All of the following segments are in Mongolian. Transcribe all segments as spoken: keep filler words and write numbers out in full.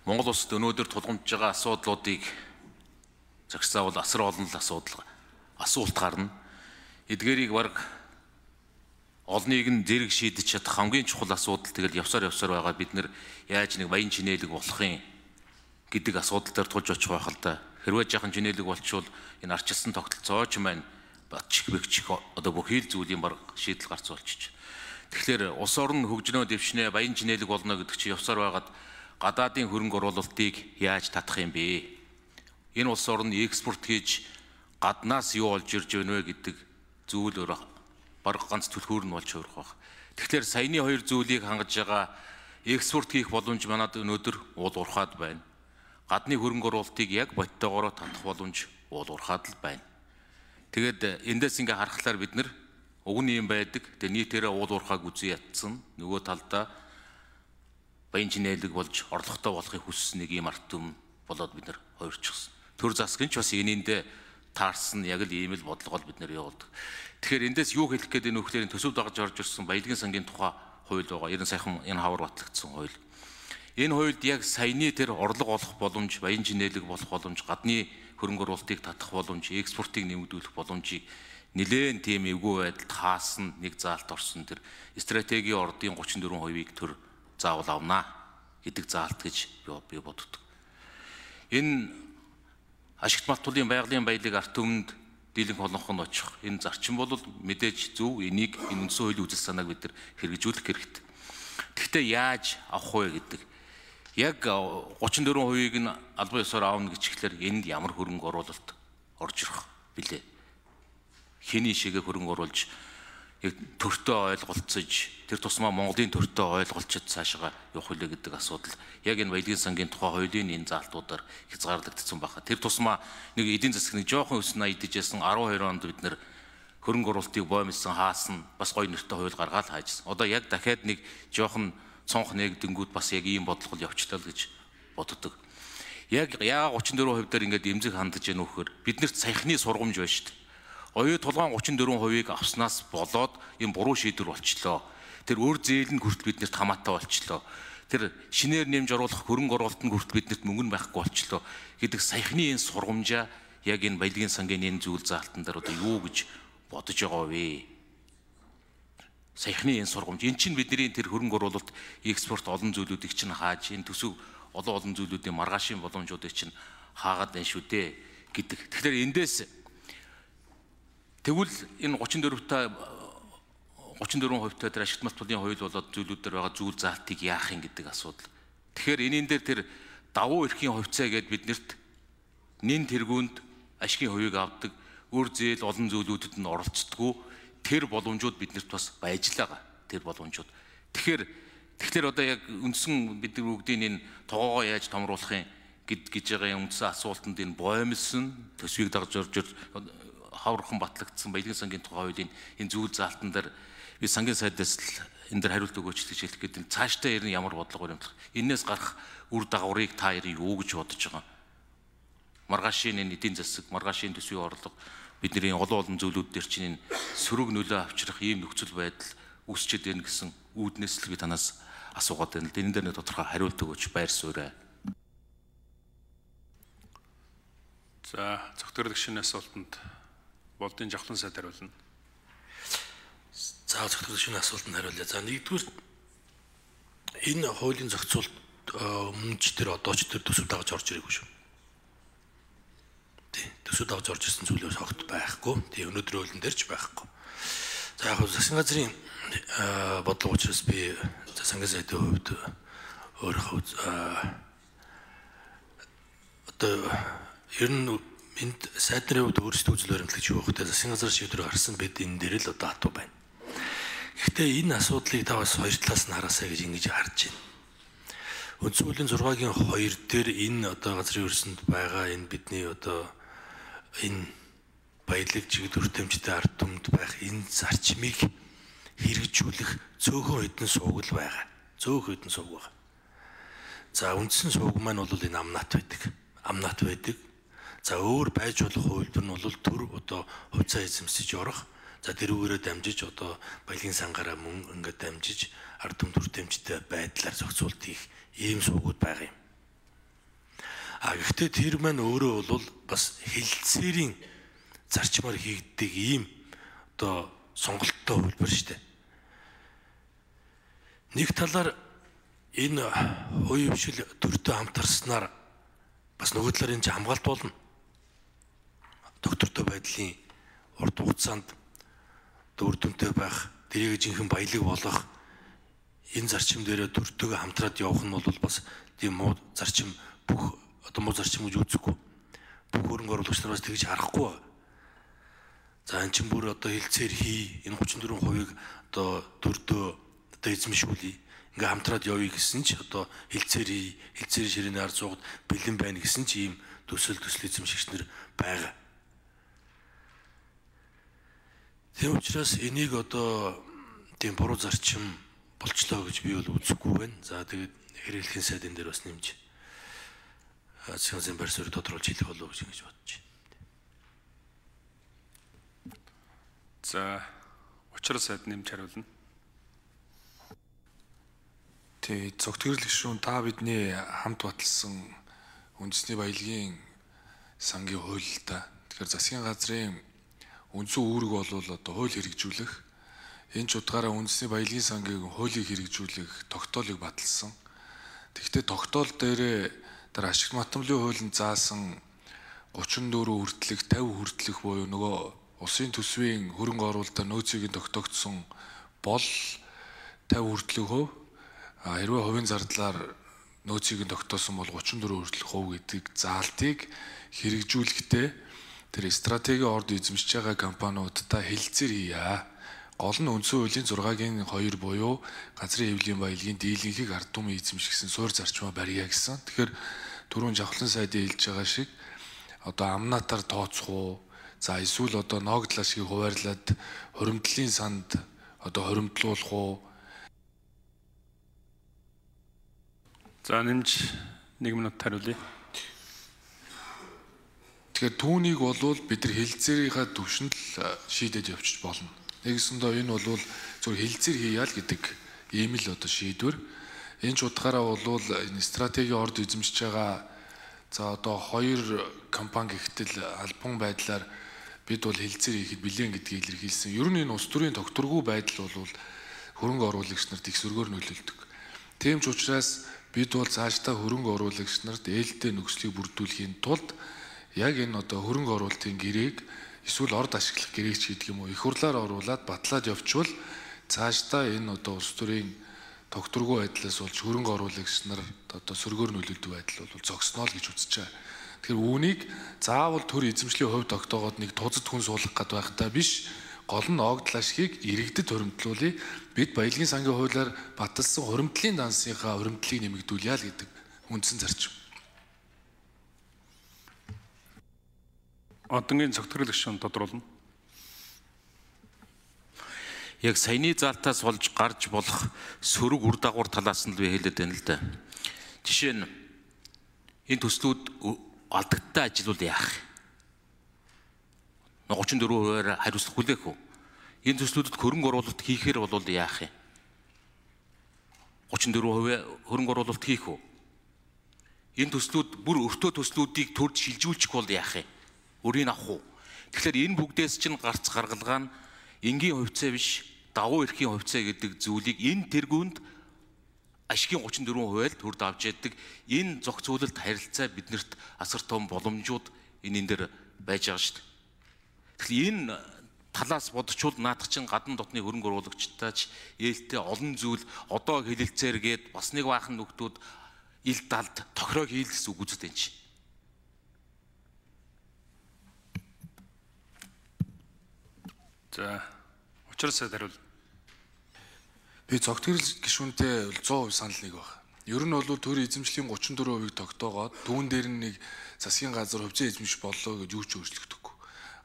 Монгол улсад өнөөдөр тулгамдж байгаа асуудлуудыг зохицаавал асар олон асуудал асуулт гарна. Эдгээрийг баг олныг нь зэрэг шийдэж чадах хамгийн чухал асуудал тэгэл явсаар явсаар байгаа бид нэр яаж нэг баян чинээлэг болох юм гэдэг асуудал дээр тулж очих байх л да. Хэрвээ жаахан чинээлэг болчвол энэ арчилсан тогтолцооч маань батчих бэгчих одоо бүхий л зүйлийн баг шийдэл гарц болчих. Тэгэхээр улс орн хөгжнөө дэвшнээ баян чинээлэг болно гэдэг чинь явсаар байгаад гадаадын хөрөнгө оруулалтыг яаж татах юм бэ? Энэ улс орн экспорт хийж гаднаас юу олж ирж байна вэ гэдэг зүйл өөр баг ганц түлхүүр нь болж хувирах баг. Тэгэхээр саяны хоёр зүйлийг хангаж байгаа экспорт хийх боломж манад өнөөдөр уул уурхаад байна. Гадны хөрөнгө оруулалтыг яг боттойгоор татах боломж уул уурхаад л байна. Тэгэд эндээс ингээ харахаар бид нар уг нь юм байдаг. Тэгээ нийтээрээ уул уурхааг үзэн ятсан. Нөгөө талдаа баян чинээлэг болж орлоготой болохыг хүссэн нэг юм арт түмэн болоод бид нар хувирчихсан. Төр засгийн ч бас энэндээ таарсан яг л ийм л бодлого бид нар явуулдаг. Тэгэхээр эндээс юу хэлэх гээд энэ нөхдөөрийн төсөв дагаж орж ирсэн баялагын сангийн тухай хууль байгаа. Ерөн сайхан энэ хавар батлагдсан хууль. Энэ хуульд яг саяны тэр орлого олох боломж, баян чинээлэг болох боломж, гадны хөрөнгө оруулалтыг татах боломж, экспортыг нэмэгдүүлэх боломжийг нэлээд тийм эвгүй байдалд хаасан нэг заалт орсон тэр стратегийн ордын гучин дөрвөн хувийг төр заавал авнаа гэдэг заалт гэж би боддог. Энэ ашигт малтуулын байгалийн баялаг арт түмэнд дийлэнх олонх нь очих. Энэ зарчим бол мэдээж зөв, энийг энэ үндсэн хуулийн үзэл санааг бид нар хэрэгжүүлэх хэрэгтэй. Гэхдээ яаж авах вэ гэдэг. Яг гучин дөрвөн хувийг нь албан ёсоор аавна гэчихлээр энд ямар хөрөнгө оруулалт орж ирэх билээ. Хэний шигээ хөрөнгө оруулж төртөө ойлголцож тэр тусмаа Монголын төртөө ойлголцож цаашаа явах үлээ гэдэг асуудал яг энэ баялагын сангийн тухай хуулийн энэ заалтуудаар хязгаарлагдсан байна. Тэр тусмаа нэг эдийн засаг нэг жоохон өснө идэж ясан арван хоёр онд бид нэр хөрөнгө оруулалтыг боомлсон хаасан бас гоё нэртэй хууль гаргаад хаажсан. Одоо яг дахиад нэг жоохон цонх нэгдэнгүүд бас яг ийм бодлого явчлаа л гэж боддог. Яг яа гучин дөрвөн хувь дээр ингээд эмзэг хандаж яах нөхөр биднэрт саяхны сургамж байна шүү дээ. Оюу тулгаан гучин дөрвөн хувийг авснаас болоод юм буруу шийдвэр болчлоо. Тэр өөр зээл нь хүртэл биднэрт хамаатай болчлоо. Тэр шинээр нэмж оруулах хөрөнгө оруулалтанд хүртэл биднэрт мөнгө нь байхгүй болчлоо гэдэг саяхны энэ сургамжаа яг энэ баялагын сангийн энэ зүйл заалтан дээр одоо юу гэж бодож байгаа вэ? Саяхны энэ сургамж эн чинь бидний тэр хөрөнгө оруулалт экспорт олон зүйлүүдийг чинь хааж энэ төсөв олон олон зүйлүүдийн маргаашийн боломжуудыг чинь хаагаад байна шүү дээ гэдэг. Тэгэхээр эндээс тэгвэл энэ гучин дөрвтэй гучин дөрвөн хувьтай тэр ашигт малтуулын хууль болоод зүйлүүд дээр байгаа зүйл заалтыг яах юм гэдэг асуудал. Тэгэхээр энээн дээр тэр давуу эрхийн хувьцаа гэдээ биднэрт нэн тэргуунд ашигын хувийг авдаг, өөр зээл олон зүйлүүдэд нь оролцдоггүй тэр боломжууд биднэрт бас байж л байгаа. Тэр боломжууд. Тэгэхээр тэгэхээр одоо яг үндсэн бид нар бүгдийн энэ тоогоо яаж томруулах юм гэд гэж байгаа юм үндсэн асуултанд энэ боомлсон төсвийг дагаж орж хаврхан батлагдсан баялагын сангийн тухай хуулийн энэ зүйл заалтан дээр би сангийн сайдаас л энэ дээр хариулт өгөөч гэж хэлэх гэдэг. Цаашдаа ер нь ямар бодлого баримтлах. Энээс гарах үр дагаврыг та ер нь юу гэж бодож байгаа. Маргаашийн энэ эдийн засаг, маргаашийн төсвийн орлого бидний олон олон зүйлүүд дээр чинь энэ сөрөг нөлөө авчрах ийм нөхцөл байдал үүсчээд байна гэсэн үүднээс л би танаас асуугаад байна л. Энэ дээр нэг тодорхой хариулт өгөөч байр суурь. За, зөвхөн шинэ асуултанд Болдын жавхлан сайд хариулна. За зөвхөн шинэ асуултанд хариулъя. За нэгдүгээр энэ хуулийн зохицуулт өмнө ч тэр одоо ч тэр төсөв дагаж орж ирээгүй шүү. Тий, төсөв дагаж орж ирсэн зүйлээс огт байхгүй. Тий, өнөөдрийн хуулийн дээр ч байхгүй. За яг засгийн газрын бодлого учраас би засгийн сайдын хувьд өөрөө одоо ер нь энд сайд нарын хувьд өөрсдөө үзэл баримтлагч юу вэ? Засгийн газар шийдвэр гаргасан бид энэ дээр л одоо хатуу байна. Гэхдээ энэ асуудлыг та бас хоёр талаас нь хараасаа гэж ингэж харж байна. Үндсэн хуулийн зургагийн хоёр дээр энэ одоо газрын өрсөнд байгаа энэ бидний одоо энэ баялаг чиглэл өртөмжтэй ард түмэнд байх энэ зарчмыг хэрэгжүүлэх цөөхөн хэдэн сууг л байгаа. Цөөхөн хэдэн сууг байгаа. За үндсэн сууг маань бол энэ амнат байдаг. Амнат байдаг. За өөр байж болох хувилбар нь бол төр одоо хувьцаа эзэмсэж орох. За тэрүүгээрээ дамжиж одоо баялагын сангаараа мөн ингээд дамжиж ард түмэн төртөмжтэй байдлаар зохицуулт хийх ийм суугууд байгаа юм. А гэхдээ тэр маань өөрөө бол бас хэлэлцээрийн зарчмаар хийгддэг ийм одоо сонголттой хөлбөр шүү дээ. Нэг талаар энэ хувийн хвшил төртөө хамтарснаар бас нөгөө талаар энэ хамгаалт болно. Доктортой байдлын урт хугацаанд үр дүнтэй байх, дэрийг жинхэнэ баялаг болох энэ зарчим дээр төртөөгөө хамтраад явах нь бол бас тийм муу зарчим бүх одоо муу зарчим гэж үзэхгүй. Бүх хөрөнгө оруулагч нараас тэгж харахгүй. За эн чинь бүр одоо хэлцээр хий энэ гучин дөрвөн хувийг одоо төртөө одоо эзэмшүүлээ. Ингээ хамтраад явъя гэсэн ч одоо хэлцээр хий, хэлцээр ширээний ард зуугад бэлэн байна гэсэн ч ийм төсөл төсөл эзэмшигчнэр байгаа. Тийм учраас энийг одоо тийм буруу зарчим болчлоо гэж би бол үзэхгүй байна. За тэгээд хэрэглэхийн сайдын дээр бас нэмж засгийн газрын байр суурийг тодруулж хэлэх болов уу гэж бодож байна. За учрал сайд нэмж хариулна. Тэ цогтгөрөл гишүүн та бидний хамт баталсан үндэсний баялагын сангийн хууль л да. Тэгэхээр засгийн газрын үндсэн үүрэг бол одоо хууль хэрэгжүүлэх, энэ ч утгаараа үндэсний баялагын сангийн хуулийг хэрэгжүүлэх тогтоолыг баталсан. Тэгэхдээ тогтоол дээрээ дараа ашигт матамлын хуулинд заасан гучин дөрөв хүртэлх, тавь хүртэлх буюу нөгөө улсын төсвийн хөрөнгө оруулалтаар нөөцийг тогтоогдсон бол тавь хүртэлх хөв, хэрвээ хувийн зардлаар нөөцийг тогтоосон бол гучин дөрөв хүртэлх хөв гэдэг заалтыг хэрэгжүүлэхдээ тэр стратегийн орд эзэмшиж байгаа компаниудтай хэлэлцээр хийя. Гол нь үндсэн хуулийн зургагийн хоёр буюу газрын хэвлэлийн баялагын дийлэнхийг ард түмэн эзэмшигсэн суурь зарчмаа барья гэсэн. Тэгэхээр түрүүн Жавхлан сайдын хэлж байгаа шиг одоо амнаатаар тооцох уу, за эсвэл одоо ноогдлаа шиг хуваарлаад хуримтлалын санд одоо хуримтлуулах уу. За нэмж нэг минут хариулъя. Тэгэхээр түүнийг болвол бид нар хэлэлцээрийнхаа түвшинд л шийдэж явчих болно. Нэгсэндээ энэ бол зөв хэлэлцээр хийя л гэдэг ийм л одоо шийдвэр. Энэ ч утгаараа бол энэ стратегийн орд эзэмшиж байгаа за одоо хоёр компани гихтэл албан байдлаар бид бол хэлэлцээр хийхэд билэн гэдгийг илэрхийлсэн. Ер нь энэ улс төрийн тогтворгүй байдал бол хөрөнгө оруулагч нарт их сөргөөр нөлөөлдөг. Тийм ч учраас бид бол цаашдаа хөрөнгө оруулагч нарт ээлтэй нөхцөлийг бүрдүүлэхийн тулд яг энэ одоо хөрөнгө оруулалтын гэрээг эсвэл орд ашиглах гэрээг ч гэдэг юм уу их хурлаар оруулаад батлаад явчвал цаашдаа энэ одоо улс төрийн тогтворгүй байдлаас болж хөрөнгө оруулагч нар одоо сөргөөр нөлөөлдөг байдал бол зогсноо л гэж үзэж байгаа. Тэгэхээр үүнийг заавал төр эзэмшлийн хувьд тогтоогоод нэг тузад хүн суулгах гээд байхдаа биш, гол нь ноогдол ашгийг иргэдэд хуримтлуулъя. Бид баялагын сангийн хуулиар баталсан хуримтлалын дансынхаа хуримтлалыг нэмэгдүүлъя л гэдэг үндсэн зарчим. Одонгийн цогтгөрөл гишүүн тодруулна. Яг саяны залтаас болж гарч болох сөрөг үр дагавар талаас нь л би хэлээд байна л да. Жишээ нь энэ төслүүд алдагдaltaй ажиллавал яах? гучин дөрөв хувиар хариуцлага хүлээх үү? Энэ төслүүдэд хөрөнгө оруулалт хийхээр бол яах юм? гучин дөрөв хувиар хөрөнгө оруулалт хийх үү? Энэ төслүүд бүр өртөө төслүүдийг төрж шилжүүлчих бол яах юм? Өрийг авах уу? Тэгэхээр энэ бүгдээс чинь гарц гаргалгаа нь энгийн хувьцаа биш, давуу эрхийн хувьцаа гэдэг зүйлийг энэ тэргуунд ашигын гучин дөрөв хувиар төрд авч яддаг. Энэ зохицуулалт харилцаа биднэрт асар том боломжууд энэ энэ дээр байж байгаа шүү дээ. Тэгэхээр энэ талаас бодчвол наадах чинь гадна дотны хөрөнгө оруулагчтай ч ээлтэй олон зүйл одоо хэлэлцээр гээд бас нэг баахан нөхдүүд ил далд тохироо хийл гэсэн үг үздэг юм чи. За учрал сайд хариул. Би цогтгөрөл гишүүнтэй зуун хувь санал нэг байна. Ер нь бол төр эзэмшлийн гучин дөрөв хувийг тогтоогоод түүн дээр нэг засгийн газар хувьцаа эзэмших боллоо гэж юу ч өөрчлөгдөхгүй.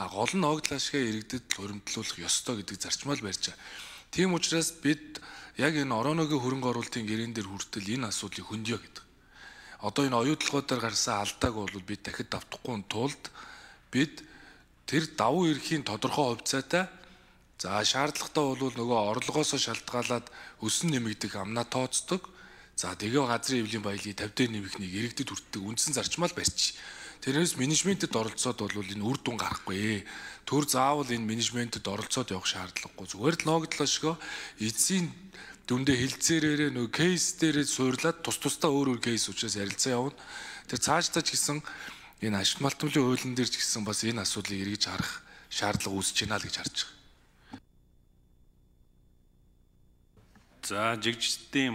А гол нь ноогдол ашгаа иргэдэд хуримтлуулах ёстой гэдэг зарчмал барьж байгаа. Тийм учраас бид яг энэ орооногийн хөрөнгө оруулалтын гэрээн дээр хүртэл энэ асуудлыг хөндөё гэдэг. Одоо энэ оюутлогуудаар гарсан алдааг бол бид дахид давтахгүй тулд бид тэр давуу эрхийн тодорхой хувьцаатай за шаардлагатай бол нөгөө орлогоосоо шалтгаалаад өсөн нэмэгдэх амнаа тооцдог. За тэгээ газрын эвлийн баялгийг тавьд нэмэхнийг иргэдэд хүртдэг үндсэн зарчмаа л барьчих. Тэрнээс менежментэд оролцоод бол энэ үр дүн гарахгүй. Төр заавал энэ менежментэд оролцоод явах шаардлагагүй. Зүгээр л ногдлошгоо эцсийн дүндээ хилцээрээ нөгөө кейс дээрээ суурлаад тус тусдаа өөр өөр кейс учраас ярилцаа явна. Тэр цаашдаа ч гэсэн энэ ашигт малтмлын хуулийн дээр ч гэсэн бас энэ асуудлыг эргэж харах шаардлага үүсэж байна л гэж харж байгаа. За жигжтийн